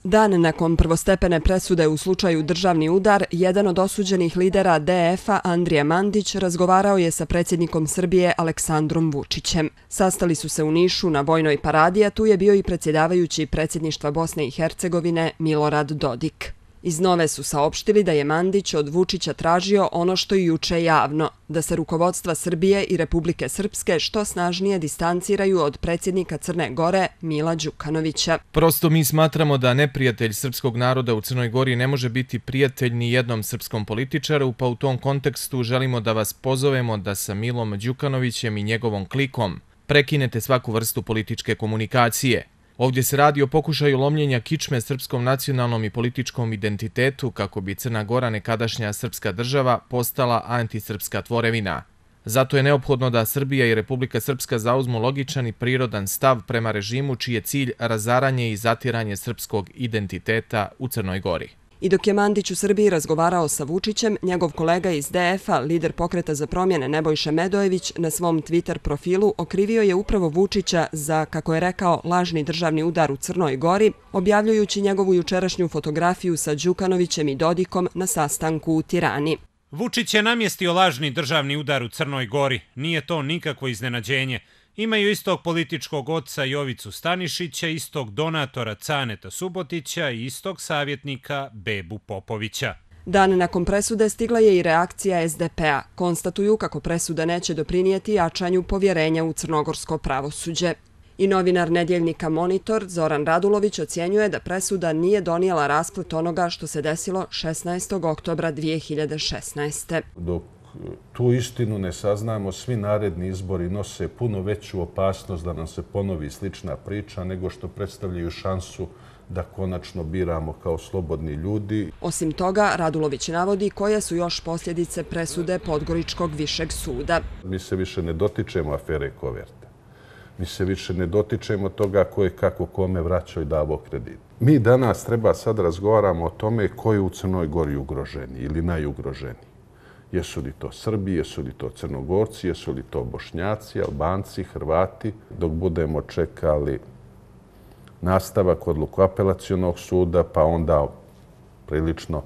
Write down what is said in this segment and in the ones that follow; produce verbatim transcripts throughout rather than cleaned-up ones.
Dan nakon prvostepene presude u slučaju državni udar, jedan od osuđenih lidera D F-a, Andrija Mandić, razgovarao je sa predsjednikom Srbije Aleksandrom Vučićem. Sastali su se u Nišu na vojnoj paradi, a tu je bio i predsjedavajući predsjedništva Bosne i Hercegovine Milorad Dodik. Iz Nove su saopštili da je Mandić od Vučića tražio ono što i juče javno, da se rukovodstva Srbije i Republike Srpske što snažnije distanciraju od predsjednika Crne Gore Mila Đukanovića. Prosto mi smatramo da neprijatelj srpskog naroda u Crnoj Gori ne može biti prijatelj ni jednom srpskom političaru, pa u tom kontekstu želimo da vas pozovemo da sa Milom Đukanovićem i njegovom klikom prekinete svaku vrstu političke komunikacije. Ovdje se radi o pokušaju lomljenja kičme srpskom nacionalnom i političkom identitetu kako bi Crna Gora, nekadašnja srpska država, postala antisrpska tvorevina. Zato je neophodno da Srbija i Republika Srpska zauzmu logičan i prirodan stav prema režimu čiji je cilj razaranje i zatiranje srpskog identiteta u Crnoj Gori. I dok je Mandić u Srbiji razgovarao sa Vučićem, njegov kolega iz D F-a, lider Pokreta za promjene Nebojša Medojević, na svom Twitter profilu okrivio je upravo Vučića za, kako je rekao, lažni državni udar u Crnoj Gori, objavljujući njegovu jučerašnju fotografiju sa Đukanovićem i Dodikom na sastanku u Tirani. Vučić je namjestio lažni državni udar u Crnoj Gori. Nije to nikakvo iznenađenje. Imaju istog političkog oca Jovicu Stanišića, istog donatora Caneta Subotića i istog savjetnika Bebu Popovića. Dan nakon presude stigla je i reakcija S D P-a. Konstatuju kako presuda neće doprinijeti jačanju povjerenja u crnogorsko pravosuđe. I novinar nedjeljnika Monitor Zoran Radulović ocjenjuje da presuda nije donijela rasplet onoga što se desilo šesnaestog oktobra dvije hiljade šesnaeste. Dok tu istinu ne saznamo, svi naredni izbori nose puno veću opasnost da nam se ponovi slična priča nego što predstavljaju šansu da konačno biramo kao slobodni ljudi. Osim toga, Radulović navodi koje su još posljedice presude Podgoričkog višeg suda. Mi se više ne dotičemo afere koverte. Mi se više ne dotičemo toga ko je kako kome vraćao i davao kredit. Mi danas treba sad razgovaramo o tome ko je u Crnoj Gori ugroženi ili najugroženiji. Jesu li to Srbi, jesu li to Crnogorci, jesu li to Bošnjaci, Albanci, Hrvati. Dok budemo čekali nastavak odluku apelacionog suda, pa onda prilično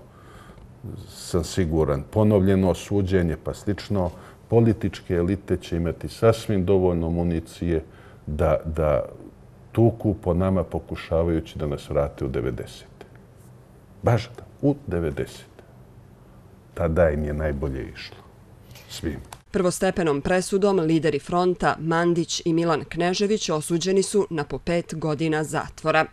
sam siguran ponovljeno suđenje, pa slično, političke elite će imati sasvim dovoljno municije da, da tuku po nama pokušavajući da nas vrate u devedesete. Baš u devedesete. Tada im je najbolje išlo. Svim. Prvostepenom presudom lideri fronta Mandić i Milan Knežević osuđeni su na po pet godina zatvora.